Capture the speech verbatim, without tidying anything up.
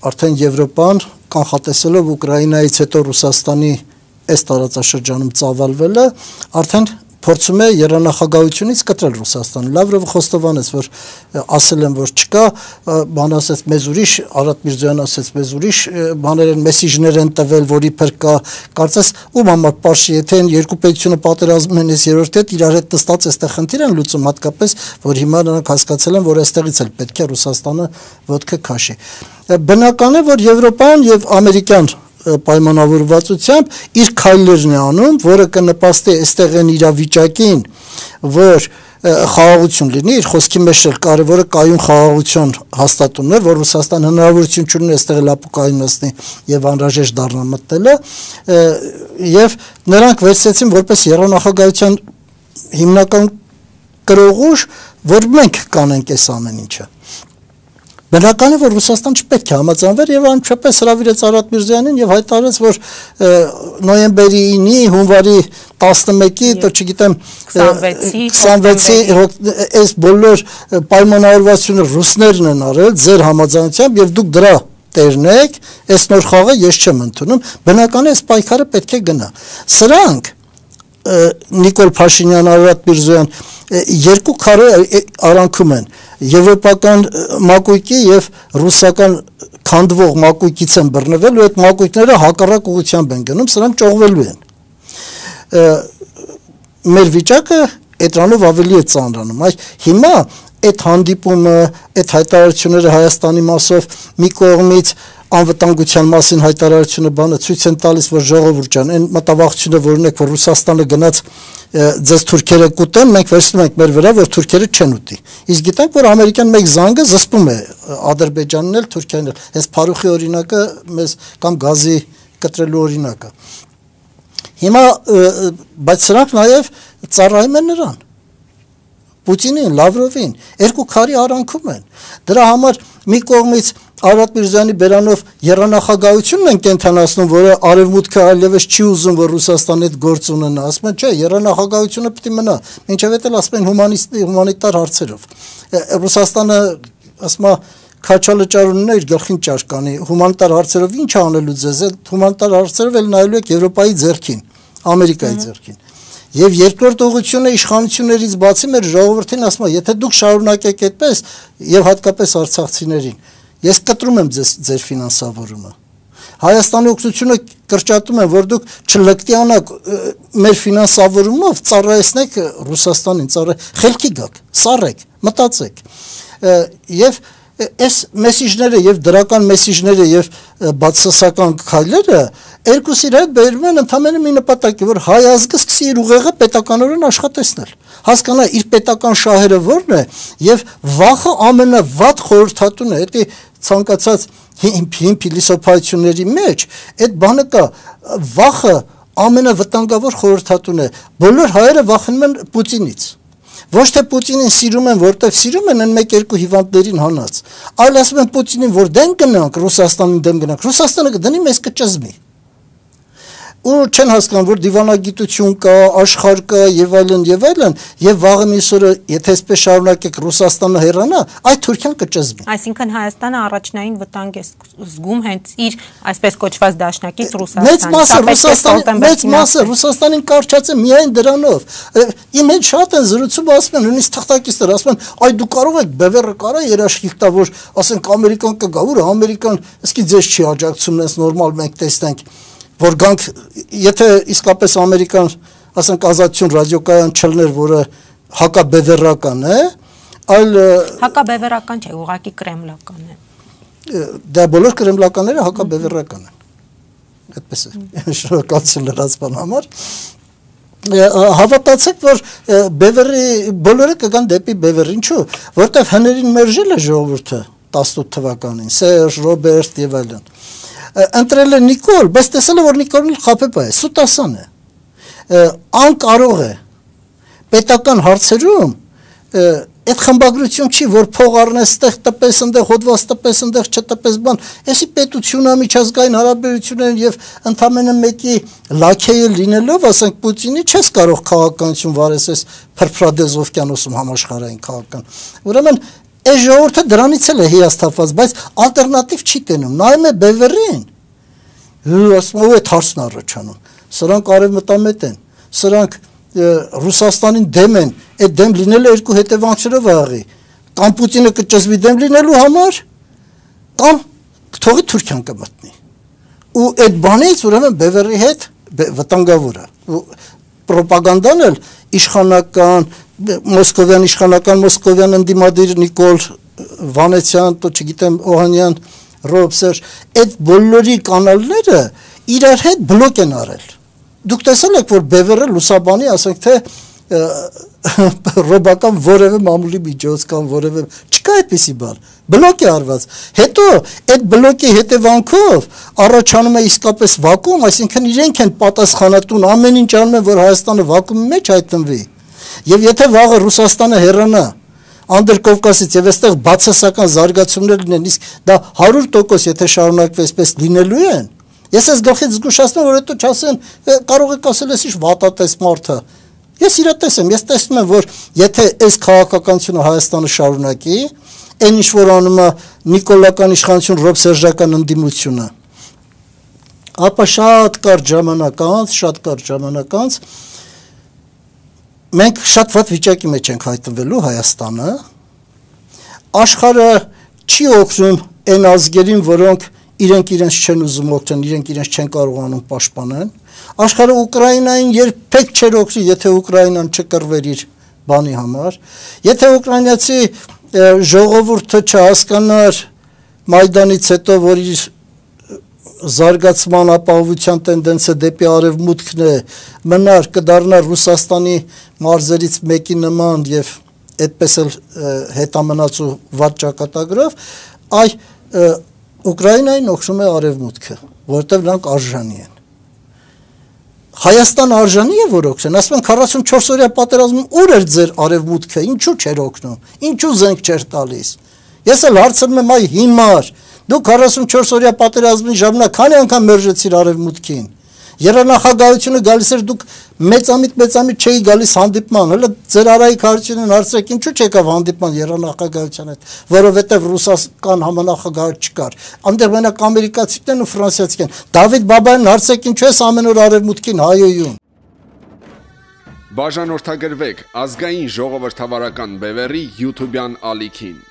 արդեն Եվրոպան կանխատեսելով Ուկրաինայից հետո Ռուսաստանի այս տարածաշրջանում ծավալվելը, արդեն փորձում է երանախագահությունից կտրել Ռուսաստանը։ Լավրովը խոստովանեց, որ ասել են, որ չկա, բան ասեց մեզ ուրիշ, Արադ Միրզոյան ասեց մեզ ուրիշ, բաներ են, մեսիջներ են տվել, որ իբր կա, կարծես ում համար պարշի, եթե են երկու պետությունը պատերազմում են, այս երրորդ հետ իրար հետ նստած այստեղ խնդիր են լուծում, հատկապես, որ հիմա նրանք հասկացել են, որ այստեղից էլ պետք է Ռուսաստանը ոտքը քաշի։ Բնական է, որ Եվրոպան եւ ամերիկյան պայմանավորվածությամբ իր քայլերն է անում, որը կնպաստի այստեղ են իրավիճակին, որ խաղաղություն լինի, իր խոսքի մեջ էլ կարևորը կայուն խաղաղություն հաստատումն է, որ Ռուսաստան հնարավորություն չունի այստեղ լապուկային նստի եւ անհրաժեշտ դառնա մտնելը, եւ նրանք վերցրեցին որպես երանախագահության հիմնական կրողուժ, որ մենք կանենք այս ամեն ինչը։ Բնական է, որ Ռուսաստան չպետք է համաձայնվեր եւ անչափես հրավիրեց Արադ Միրզոյանին եւ հայտարարեց, որ նոյեմբերի ինի, հունվարի տասնմեկի, դեռ չգիտեմ, քսանվեցի այս բոլոր պայմանավորվածությունը ռուսներն են արել ձեր համաձայնությամբ եւ դուք դրա տերն եք, այս նոր խաղը ես չեմ ընդունում, բնական է, այս պայքարը պետք է գնա։ Սրանք Նիկոլ Փաշինյան, Արադ Միրզոյան երկու քարե արանքում են եվրոպական մակույկի եւ ռուսական քանդվող մակույկից են բռնվել ու այդ մակույկները հակառակ ուղղությամբ են գնում, սրանք ճողվելու են։ Մեր վիճակը այդրանով ավելի է ծանրանում։ Այ հիմա այդ հանդիպումը, այդ հայտարարությունները Հայաստանի մասով մի կողմից անվտանգության մասին հայտարարությունը բանը ցույց են տալիս, որ ժողովուրդ ջան, այն մտավախությունը, որ ունեք, որ Ռուսաստանը գնաց ձեզ թուրքերը կուտեն, մենք վերցնում ենք մեր վրա, որ թուրքերը չեն ուտի։ Իսկ գիտենք, որ ամերիկյան մեկ զանգը զսպում է Ադրբեջանն էլ, Թուրքիան էլ։ Այս Փարուխի օրինակը մեզ կամ գազի կտրելու օրինակը։ Հիմա բայց սրանք նաև ծառայում են նրան։ Պուտինին, Լավրովին, երկու քարի արանքում են։ Դրա համար մի կողմից Արադ Միրզոյանի բերանով երանախագահությունն են կենթանացնում, որը արևմուտքը այլևս չի ուզում, որ Ռուսաստանի հետ գործ ունենա, ասում են, չէ, երանախագահությունը պետք է մնա, մինչև էլ ասում են հումանիտար հարցերով։ Ռուսաստանը, ասում է, քաչալճարունն է իր գլխին ճար կանի, հումանիտար հարցերով ինչ անելու ձեզ, հումանիտար հարցերով էլ նայելու եք Եվրոպայի ձեռքին, Ամերիկայի ձեռքին։ Եվ երկրորդ ուղղությունը իշխանություններից բացի մեր ժողովրդին ասում է, եթե դուք շարունակեք այդպես եւ հատկապես արցախցիներին, ես կտրում եմ ձեզ ձեր ֆինանսավորումը։ Հայաստանի օգնությունը կրճատում են, որ դուք չլկտիանաք մեր ֆինանսավորումով ծառայեցնեք Ռուսաստանին, ծառայ, խելքի գաք, սառեք, մտածեք։ Եվ այս մեսիջները եւ դրական մեսիջները եւ բացասական քայլերը երկուսի հետ բերում են ընդհանրապես մի նպատակի, որ հայ ազգը սկսի իր ուղեղը պետականորեն աշխատեցնել, հասկանա իր պետական շահերը որն է եւ վախը ամենավատ խորհրդատուն է, դա ցանկացած հին փիլիսոփայությունների մեջ այդ բանը կա, վախը ամենավտանգավոր խորհրդատուն է, բոլոր հայերը վախենում են Պուտինից։ Ոչ թե Պուտինին սիրում են, որտեղ սիրում են այն մեկ-երկու հիվանդներին հանած, այլ ասում են Պուտինին, որ դեմ գնանք, Ռուսաստանին դեմ գնանք, Ռուսաստանը կդնի մեզ կճզմի։ Ու չեն հասկանում, որ դիվանագիտություն կա, աշխարհ կա եւ այլն եւ այլն, եւ վաղը միսօրը, եթե այսպես շարունակեք Ռուսաստանը հեռանա, այդ Թուրքիան կճզմի։ Այսինքն Հայաստանը առաջնային վտանգ է զգում հենց իր այսպես կոչված դաշնակից Ռուսաստանին։ Մեծ մասը Ռուսաստանին կարճած է միայն դրանով։ Իմ հետ շատ են զրուցում, ասում են, նույնիսկ թղթակիցներ ասում են, այ դու կարող եք բևեռը կարա երաշխիք տա, որ ասենք ամերիկան կգա, որ ամերիկան իսկի ձեզ չի աջակցում, նես նորմալ մենք տեսնենք, որ գանք, եթե իսկապես ամերիկան, ասենք ազատություն ռադիոկայան չլներ, որը հակաբևեռական է, այլ հակաբևեռական չէ, ուղղակի կրեմլական է։ Դա բոլոր կրեմլականները հակաբևեռական են։ Այդպես է, շնորհակալություն լրացման համար։ Հավատացեք, որ բևեռի բոլորը կգան դեպի բևեռ, ինչու, որտեղ հներին մերժել է ժողովուրդը տասնութ թվականին, Սերժ, Ռոբերտ եւ այլն։ Ընտրել է Նիկոլ, բայց տեսել է, որ Նիկոլն խաբեբա է, սուտասան է, անկարող է, պետական հարցերում այդ խմբագրություն չի, որ փող առնես ստեղ տպես, ընդեղ հոդված տպես, ընդեղ չտպես բան, այսի պետությունը միջազգային հարաբերություններ եւ ընդամենը մեկի լաքեյը լինելով, ասենք Պուտինի չես կարող քաղաքականություն վարես այս փրփրադեզ օվկիանոսում համաշխարհային քաղաքական։ Ուրեմն Այս ժողովուրդը դրանից էլ է հիասթափված, բայց ալտերնատիվ չի տենում, նայում է Բևերին, ասում է այդ հարցն առաջանում, սրանք արևմտամետ են, սրանք Ռուսաստանին դեմ են, այդ դեմ լինելը երկու հետևանքներով աղի, կամ Պուտինը կճզվի դեմ լինելու համար, կամ թողի Թուրքիան կմտնի, ու այդ բանից ուրեմն Բևերի հետ վտանգավոր է, պրոպագանդան էլ իշխանական, մոսկովյան իշխանական, մոսկովյան ընդդիմադիր Նիկոլ Վանեցյան, то չգիտեմ Օհանյան, Ռոբսեր, այդ բոլորի կանալները իրար հետ բլոկ են արել։ Դուք տեսել եք, որ Բևերը լուսաբանի, ասենք թե ռոբական որևէ մամուլի միջոց կամ որևէ չկա այդպիսի բան, բլոկ է արված։ Հետո այդ բլոկի հետևանքով առաջանում է իսկապես վակուում, այսինքն իրենք են պատասխանատուն, ամեն ինչ անում են, որ Հայաստանը վակուումի մեջ հայտնվի։ Եվ եթե վաղը Ռուսաստանը հեռանա Անդրկովկասից եւ այստեղ բացասական զարգացումներ լինեն, իսկ դա հարյուր տոկոս եթե շարունակվի այսպես լինելու են, ես ես գլխից զգուշացնում, որ հետո չասեն, կարող եք ասել, ես ինչ վատատես մարդը։ Ես իրատես եմ, ես տեսնում եմ, որ եթե այս քաղաքականությունը Հայաստանը շարունակի, այն ինչ որ անում է նիկոլական իշխանություն ռոբսերժական ընդդիմությունը, ապա շատ կարճ ժամանակ անց, շատ կարճ ժամանակ անց մենք շատ վատ վիճակի մեջ ենք հայտնվելու Հայաստանը, աշխարհը չի օգնում այն ազգերին, որոնք իրենք իրենց չեն ուզում օգնել, իրենք իրենց չեն կարողանում պաշտպանել, աշխարհը Ուկրաինային երբեք չէր օգնի, եթե Ուկրաինան չկռվեր իր բանի համար, եթե ուկրաինացի ժողովուրդը չհասկանար Մայդանից հետո, որ իր զարգացման ապահովության տենդենսը դեպի արևմուտքն է, մնար կդառնար Ռուսաստանի մարզերից մեկի նման եւ այդպես էլ հետամնաց ու վատ ճակատագրով, այ Ուկրաինային օգնում է արևմուտքը, որտեղ նրանք արժանի են։ Հայաստան արժանի է, որ օգնեն, ասում են քառասունչորս օրյա պատերազմում ուր էր ձեր արևմուտքը, ինչու չէր օգնում, ինչու զենք չէր տալիս։ Ես էլ հարցնում եմ, այ հիմար Դուք քառասունչորս օրյա պատերազմի ժամանակ քանի անգամ մերժեցիր արևմուտքին։ Երանախագահությունը գալիս էր, դուք մեծամիտ մեծամիտ չէի գալիս հանդիպման, հələ ձեր Արայիկ Հարությունն հարցրեք, ինչու չեկավ հանդիպման երանախագահության հետ, որովհետև ռուսական համանախագահ չկար։ Այնտեղ մենակ ամերիկացիներն ու ֆրանսիացիներն։ Դավիթ Բաբայանն հարցրեք, ինչու ես ամեն օր արևմուտքին հայոյում։ Բաժանորդագրվեք ազգային ժողովրդավարական Բևերի YouTube-յան ալիքին։